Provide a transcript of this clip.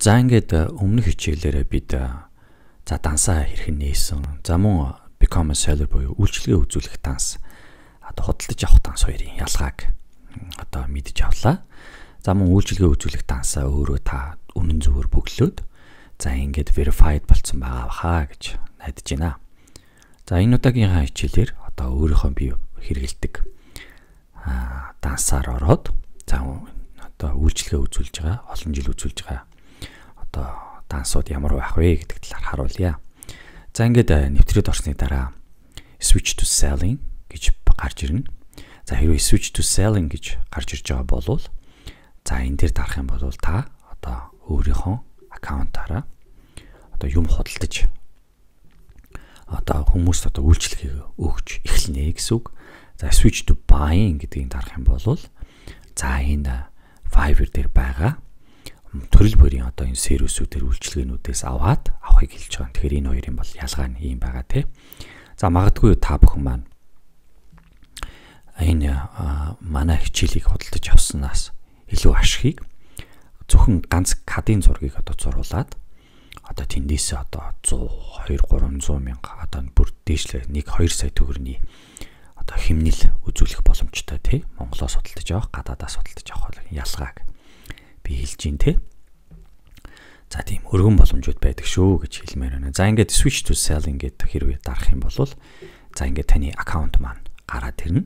За ингээд өмнөх хичээлээрээ бид за дансаа хэрхэн нээсэн. За мөн become a seller буюу үйлчлэгээ үзүүлэх данс. Одоо худалдаж авах данс хоёрын ялгааг одоо мэдж авлаа. За мөн үйлчлэгээ үзүүлэх дансаа өөрөө та үнэн зөвөөр бөглөөд за ингээд verified болцсон байгаа хаа гэж найдаж байна. За энэ удаагийнхаа хичээлээр одоо өөрийнхөө бие хэрэгэлдэг дансаар ороод за одоо үйлчлэгээ үзүүлж байгаа, олон жил үзүүлж байгаа одоо дансууд ямар байх вэ гэдэг талаар харуулъя. За ингээд нэвтрээд орсны дараа switch to selling гэж гарч ирнэ. За хэрвээ switch to selling гэж гарч ирж байгаа бол за энэ дээр дарах юм бол та одоо өөрийнхөө аккаунтаараа одоо юм худалдаж одоо хүмүүст одоо үйлчлэгээ өгч эхэлнэ гэсэн үг. За switch to buying гэдгийг дарах юм бол за энэ Fiverr дээр байгаа төрөл бүрийн одоо энэ сервисүүдээр үйлчлэгээнүүдээс авахыг хэлж байгаа. Тэгэхээр энэ хоёрын бол ялгаа нь юм байгаа тий. За магадгүй та бүхэн маань энэ манай хичээлийг худалдаж авснаас илүү ашигыг зөвхөн ганц кадын зургийг одоо зурулаад одоо тэндээсээ одоо 100, 200, 300 мянга одоо бүр дээшлээ 1-2 сая төгрөгийн одоо хэмнэл үзүүлэх боломжтой тий. Монголоос худалдаж авах, гадаадаас худалдаж авах ялгааг би хэлж гин тий. За тийм өргөн боломжууд байдаг шүү гэж хэлмээр байна. За ингээд switch to selling гэдэг хэрвээ дарах юм бол за ингээд таны аккаунт маань гараад ирнэ.